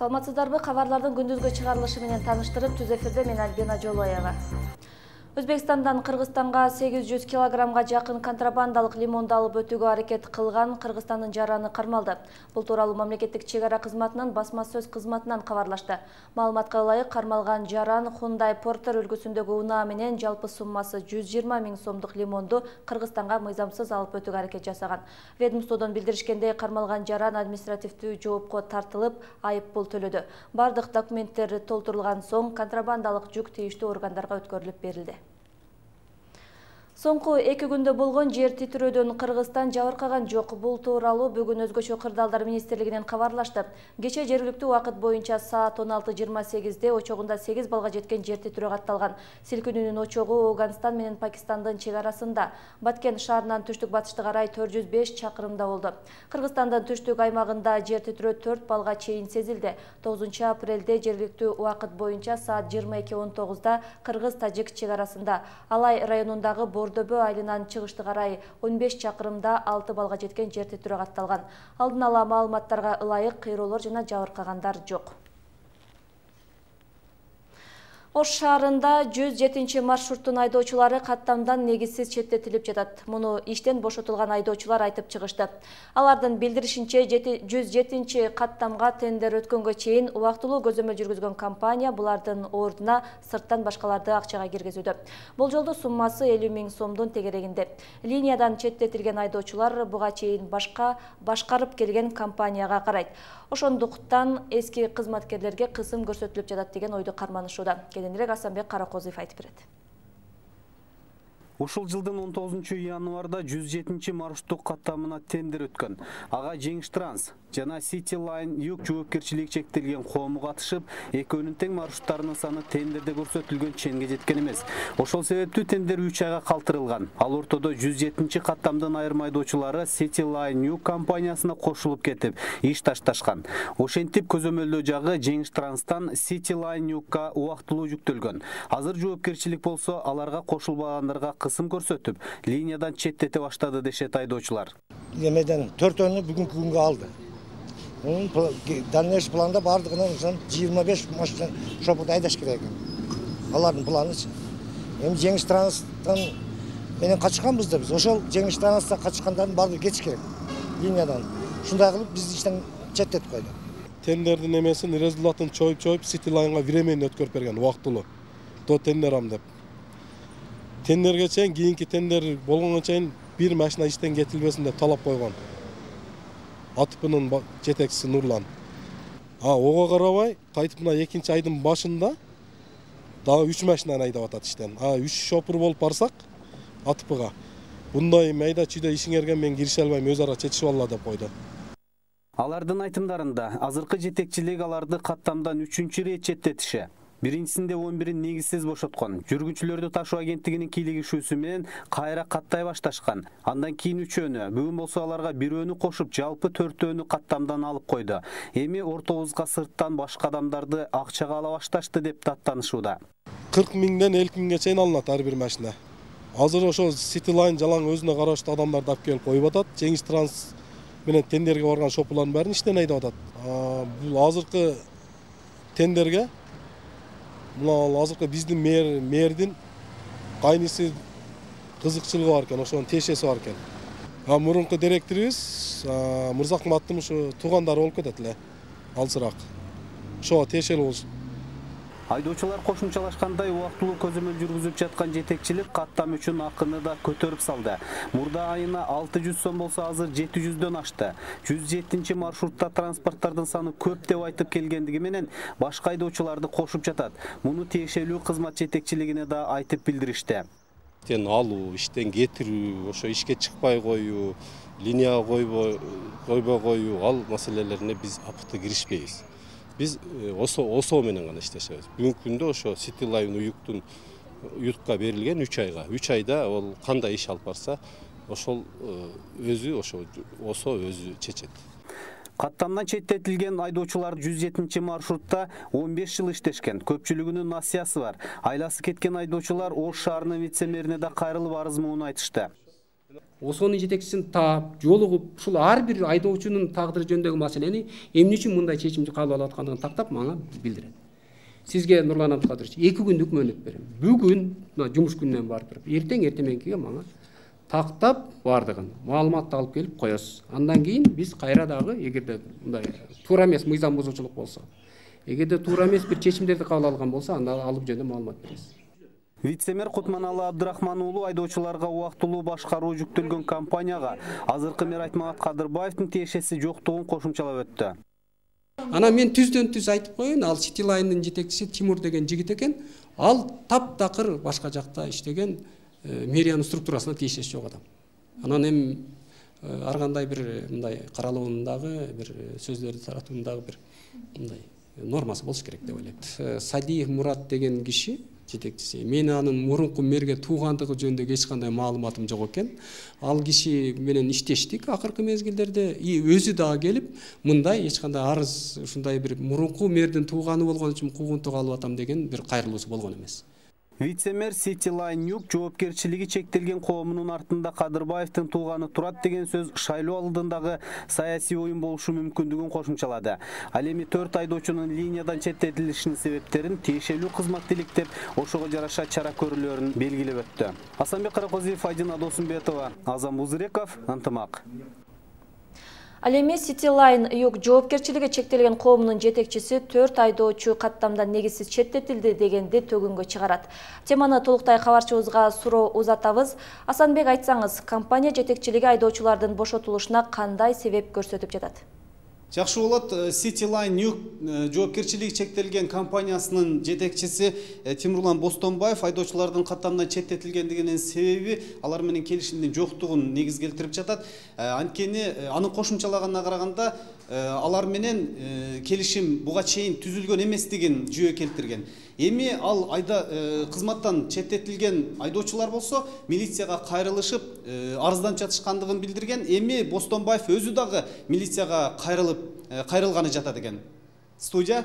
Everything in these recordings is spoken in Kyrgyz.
Саламатсыздарбы, кабарлардын күндүзгү чыгарылышы менен таныштырып, түз эфирде мен Альбина Жолоева. Өзбекстандан Кыргызстанга 800 килограммга жакын контрабандалык лимонду алып өтүүгө аракет кылган Кыргызстандын жараны кармалды. Бул тууралуу мамлекеттик чек ара кызматынын басма сөз кызматынан кабарлашты. Маалыматка ылайык, кармалган жаран Hyundai Porter үлгүсүндөгү унаа менен жалпы суммасы 120 000 сомдук лимонду Кыргызстанга мыйзамсыз алып өтүүгө аракет жасаган. Ведомстводон билдиришкендей, кармалган жаран административдүү жоопко тартылып, айып пул төлөдү. Бардык документтер толтурулган соң контрабандалык жүк тийиштүү органдарга өткөрүлүп берилди. Соңку 2 күндө болгон жер титирөөдөн Кыргызстан жабыркаган жок. Бул тууралуу бүгүн Өзгөчө кырдаалдар министрлигинен кабарлашты. Кече жергиликтүү убакыт боюнча саат 16:28-де очогунда 8 балга жеткен жер титирөө катталган. Силкинүүнүн очогу Афганистан менен Пакистандын чек арасында, Баткен шаарынан түштүк батышты карай 405 чакырымда болду. Кыргызстандын түштүк аймагында жер титирөө 4 балга чейин сезилди. 9 апрелде жергиликтүү убакыт боюнча саат 22:19-да Кыргыз-Тажик чек арасында, Алай районундагы Бордобө айылынан чыгышты карай 15 чакырымда 6 балга жеткен жер титирөө катталган. Алдын ала маалыматтарга ылайык кыйроолор жана жабыркагандар жок. Ош шаарында 107 маршруттун айдоочулары каттамдан негизсиз четтетилип жатат. Муну иштен бошотулган айдоочулар айтып чыгышты. Алардын билдиришинче, 107 каттамга тендер өткөнгө чейин убактылуу көзөмөл жүргүзгөн компания булардын ордуна сырттан башкаларды акчага киргизүүдө. Болжолдуу суммасы 50 000 сомдун тегерегинде. Линиядан четтетилген айдоочулар буга чейин башкарып келген компанияга карайт. Ошондуктан эски кызматкерлерге кысым көрсөтүлүп жатат деген ойду карманышууда. Кененирээк Асанбек Каракозуев айтып берет. Ушул жылдын 19 январда 107 маршруттук каттамына тендер өткөн. Ага Жеңиш Транс жана City Line Юг жоопкерчилиги чектелген коому катышып, экөөнүн тең маршруттарынын саны тендерде көрсөтүлгөн ченге жеткен эмес. Ошол себептүү тендер 3 айга калтырылган. Ал ортодо 107 каттамдын айрым айдоочулары City Line Юг компаниясына кошулуп кетип, иш ташташкан. Ошентип көзөмөлдөө жагы Жеңиш Транстан City Line Югга убактылуу жүктөлгөн. Азыр жоопкерчилик болсо аларга кошулбагандарга кысым көрсөтүп, линиядан четтете баштады дешет айдоочулар. Эмеден 4-өнү бүгүнкү күнгө алды. Дальнейший планда бардыгынан 25 машина шопурду айдаш керек. Алардын планычы. Эми Жеңиш Транстан менен качканбыз да биз. Ошол Жеңиш Транстан качкандардын баардыгы кетиш керек линиядан. Шундай кылып биз иштен четтетип койду. Тендердин эмесин результатын чоюп City Line'га времени өткөрүп берген убактылуу. До тендерам деп. Тендерге чейин, кийинки тендер болгонго чейин бир машина иштен кетилбесин деп талап койгон. АТПнын жетекчиси Нурлан. Ого карабай, кайтып мына 2 айдын башында дагы 3 машинаны айдап атат иштен. 3 шопур болуп барсак АТПга. Bunday майда чүйдө ишиңерге мен кирише албайм, өз ара чечишип алла деп койду. Алардын айтымдарында азыркы жетекчилик аларды каттамдан 3-чү ирет четтетиши. Биринчисинде 11-ин негизсиз бошоткон. Жүргүнчүлөрдү ташуу агенттигинин кийлигишүүсү менен кайра каттай башташкан. Андан кийин 3-өөнү, бүгүн болсо аларга 1-өөнү кошуп, жалпы 4-өөнү каттамдан алып койду. Эми ортобузга сырттан башка адамдарды акчага ала башташты деп даттанышууда. 40 000ден 50 000ге чейин алынат ар бир машина. Азыр ошо City Line жалаң өзүнө караштуу адамдарды алып келип коюп атат. Жеңиш Транс менен тендерге барган шопурлардын баарын иштен айдап атат. Бул азыркы тендерге азыркы биздин мэрдин кайнысы кызыкчылыгы бар экен, ошонун тиешеси бар экен. Мурунку директорубуз Мырзакматтын ушу туугандары болуп кетет эле, алсыраак. Ошого тиешелүү болуш. Айдоочулар кошумчалашкандай убактылуу көзөмөл жүргүзүп жаткан жетекчилик каттам үчүн акыны да көтөрүп салды. Мурда айына 600 сом болсо азыр 700дөн ашты. 107 маршрутта транспорттардын саны көп деп айтып келгендиги менен башка айдоочуларды кошуп жатат. Муну тиешелүү кызмат жетекчилигине да айтып билдиришти. Иштен алуу, иштен кетирүү, ошо ишке чыкпай коюу, линияга койбой коюу, ал маселелерине биз апыкты киришпейбиз. Биз ОСО менен гана иштешебиз. Бүгүнкү күндө ошо City Line Югка берилген 3 айга. 3 айда ол кандай иш алып барса, ошол ОСО өзү чечет. Каттамдан четтетилген айдоочулар 107 маршрутта 15 жыл иштешкен. Көпчүлүгүнүн насыясы бар. Айласы кеткен айдоочулар Ош шаарынын вице-мэрине да кайрылып арыз муун айтышты. ОСОнун жетекчисин таап, жолугуп, ушул ар бир айдоочунун тагдыры жөнүндөгү маселени эмне үчүн мындай чечимди кабыл алып аткандыгын тактап мага билдирет. Сизге Нурлан Абдыкадырович 2 күндүк мөөнөт берем. Бүгүн жумуш күнүнөн барып туруп, эртең-эртеменкиге мага тактап бардыгын маалыматты алып келип коесуз. Андан кийин биз кайра дагы эгерде мындай туура эмес мыйзам бузуучулук болсо, эгерде туура эмес бир чечимдерди кабыл алган болсо, анда алып жөнүндө маалымат беребиз. Вице-мэр Кутманалы Абдрахман уулу айдоочуларга убактылуу башкаруу жүктөлгөн компанияга азыркы мэр Айтмамат Кадырбаевдин тиешеси жоктугун кошумчалап өттү. Ана мен түздөн-түз айтып коеюн, ал Cityline'дын жетекчиси Тимур деген жигит экен. Ал таптакыр башка жакта иштеген мэриянын структурасына тиешеси жок адам. Анан эми ар кандай бир мындай каралуундагы бир сөздөрдү таратуундагы бир мындай нормасы болуш керек деп ойлойт. Садиев Мурат деген киши жетекчиси. Мен анын мурунку мэрге туугандыгы жөнүндө эч кандай маалыматым жок экен. Ал киши менен иштештик акыркы мезгилдерде. Өзү дагы келип, мындай эч кандай арыз, ушундай бир мурунку мэрдин тууганы болгон үчүн куугунтук алып атам деген бир кайрылуусу болгон эмес. Вице-мэр Cityline Юг жоопкерчилиги чектелген коомунун артында Кадырбаевдин тууганы турат деген сөз шайлоо алдындагы саясий оюн болушу мүмкүндүгүн кошумчалады. Ал эми 4 айдоочунун линиядан четтетилишинин себептерин тиешелүү кызмат иликтеп, ошого жараша чара көрүүлөрүн белгилеп өттү. Асанбек Каракозиев, Айдина Досумбетова, Азам Узыреков, Ынтымак. Ал эми Cityline Юг жоопкерчилиги чектелген коомунун жетекчиси 4 айдоочу каттамдан негизсиз четтетилди дегенди төгүнгө чыгарат. Теманы толуктай кабарчыбызга суроо узатабыз. Асанбек, айтсаңыз, компания жетекчилиги айдоочулардын бошотулушуна кандай себеп көрсөтүп жатат? Жакшы болот. Cityline Юг жоопкерчилиги чектелген компаниясынын жетекчиси Тимурлан Бостонбаев айдоочулардын каттамдан четтетилгендигинин себеби алар менен келишимдин жоктугун негиз келтирип жатат. Анткени анын кошумчалаганына караганда алар менен келишим буга чейин түзүлгөн эместигин жүйө келтирген. Эми ал кызматтан четтетилген айдоочулар болсо милицияга кайрылышып арызданып жатышкандыгын билдирген. Эми Бостонбаев өзү дагы милицияга кайрылганы жатат экен. Студия.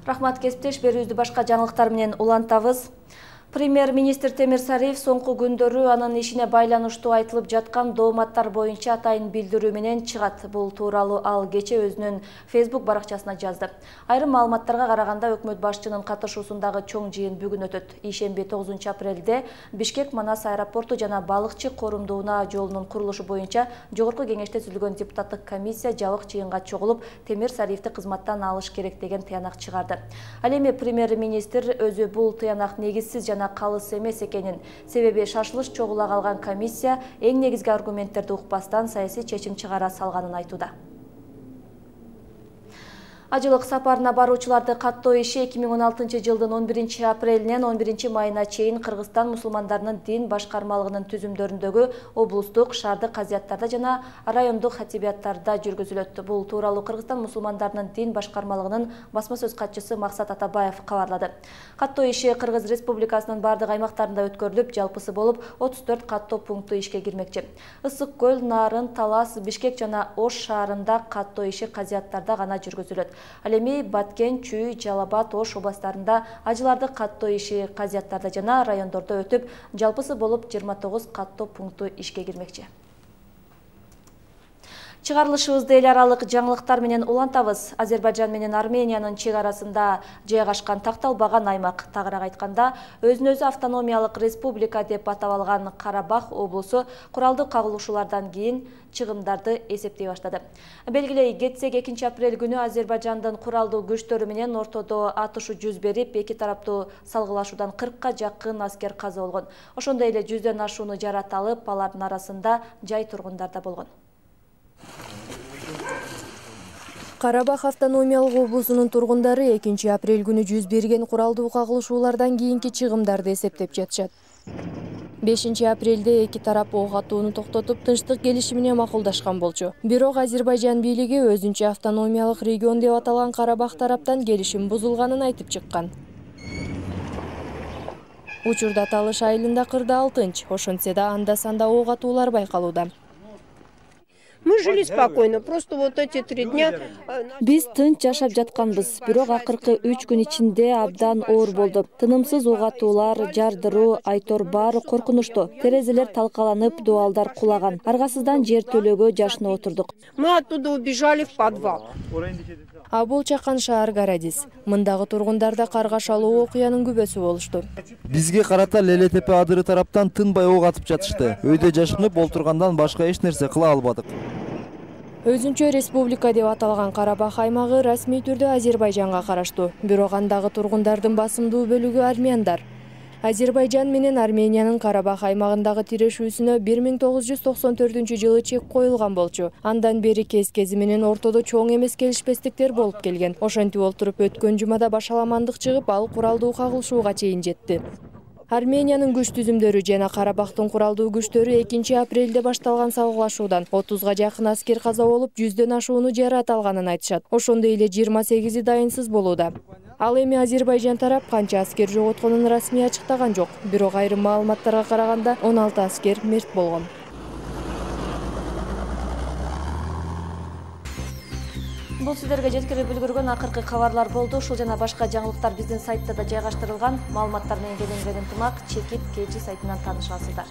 Рахмат, кесиптеш, берүүбүздү башка жаңылыктар менен улантабыз. Премьер-министр Темир Сариев соңку күндөрү анын ишине байланыштуу айтылып жаткан дооматтар боюнча атайын билдирүү менен чыгат. Бул тууралуу ал кече өзүнүн Facebook баракчасына жазды. Айрым маалыматтарга караганда өкмөт башчынын катышуусундагы чоң жыйын бүгүн өтөт. Ишемби 9 апрелде Бишкек-Манас аэропорту жана балыкчы корумдууна жолунун курулушу боюнча жогорку кеңеште түзүлгөн депутаттык комиссия жабык жыйынга чогулуп, Темир Сариевди кызматтан алыш керек деген тыянак чыгарды. Ал эми премьер-министр өзү бул тыянак негизсиз жана калыс эмес экенин, себеби шашылыш чогула калган комиссия эң негизги аргументтерди укпастан саясий чечим чыгара салганын айтууда. Ажылык сапарына баруучуларды каттоо иши 2016 жылдын 11 апрелинен 11 майына чейин Кыргызстан мусулмандарынын дин башкармалыгынын түзүмдөрүндөгү облустук, шаардык казияттарда жана райондук хатибияттарда жүргүзүлөт. Бул тууралуу Кыргызстан мусулмандарынын дин башкармалыгынын басма сөз катчысы Максат Атабаев кабарлады. Каттоо иши Кыргыз Республикасынын бардык аймактарында өткөрүлүп, жалпысы болуп 34 каттоо пункту ишке кирмекчи. Ысык көл, Нарын, Талас, Бишкек жана Ош шаарында каттоо иши казияттарда гана жүргүзүлөт. Ал эми Баткен, Чүй, Жалал-Абад, Ош областарында ажыларды каттоо иши казияттарда жана райондордо өтүп, жалпысы болуп 29 каттоо пункту ишке кирмекчи. Чыгарылышыбызды эл аралык жаңылыктар менен улантабыз. Азербайжан менен Армениянын чек арасында жайгашкан такталбаган аймак, тагыраак айтканда, өзүн-өзү автономиялык республика деп атап алган Карабах облусу куралдуу кагылышуулардан кийин чыгымдарды эсептей баштады. Белгилей кетсек, 2 апрель күнү Азербайжандын куралдуу күчтөрү менен ортодо атышуу жүз берип, эки тараптуу салгылашуудан 40-ка жакын аскер каза болгон. Ошондой эле 100дөн ашууну жараталып, алардын арасында жай тургундар да болгон. Карабах автономиялык облусунун тургундары 2 апрель күнү жүз берген куралдуу кагылышуулардан кийинки чыгымдарды эсептеп жатышат. 5 апрелде эки тарап ок атууну токтотуп, тынчтык келишимине макулдашкан болчу. Бирок Азербайжан бийлиги өзүнчө автономиялык регион деп аталган Карабах тараптан келишим бузулганын айтып чыккан. Учурда Талыш айылында кырдаал тынч, ошентсе да анда-санда ок атуулар байкалууда. Мы жили спокойно, просто вот эти 3 дня... Биз тынч жашап жатканбыз, бирок акыркы 3 күн ичинде абдан оор болду. Тынымсыз ок атуулар, жардыруу, айтор баары коркунучтуу. Терезелер талкаланып, дуалдар кулаган. Аргасыздан жер төлөгө жашынып отурдук. Мы оттуда убежали в подвал. Абул Чакан шаар Гарадис. Мындагы тургундарда каргашалуу окуянын күбөсү болушту. Бизге карата Леле Тепе адыры тараптан тынбай ок атып жатышты. Өйдө жашынып олтургандан башка эч нерсе кыла албадык. Өзүнчө республика деп аталган Карабах аймагы расмий түрдө Азербайжанга караштуу. Бирок андагы тургундардын басымдуу бөлүгү армяндар. Азербайжан менен Армениянын Карабах аймагындагы тирешүүсүнө 1994-жылы чек коюлган болчу. Андан бери кез-кези менен ортодо чоң эмес келишпестиктер болуп келген. Ошентип олтуруп өткөн жумада башаламандык чыгып, ал куралдуу кагылышууга чейин жетти. Армениянын күч түзүмдөрү жана Карабахтын куралдуу күчтөрү 2-апрелде башталган сабырлашуудан 30га жакын аскер каза болуп, 100дөн ашууну жараат алганын айтышат. Ошондой эле 28 дайынсыз болууда. Ал эми Азербайжан тарап канча аскер жоготконун расмий ачыктаган жок. Бирок айрым маалыматтарга караганда 16 аскер мерт болгон. Бул сиздерге жеткирип үлгүргөн акыркы кабарлар болду. Ушул жана башка жаңылыктар биздин сайтта да жайгаштырылган. Маалыматтар менен келингенин ынтымак чекит KG сайтынан таанышасыздар.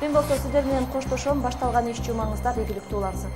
Мен болсо сиздер менен коштошом. Башталган иш жумаңыздар ийгиликтүү улансын.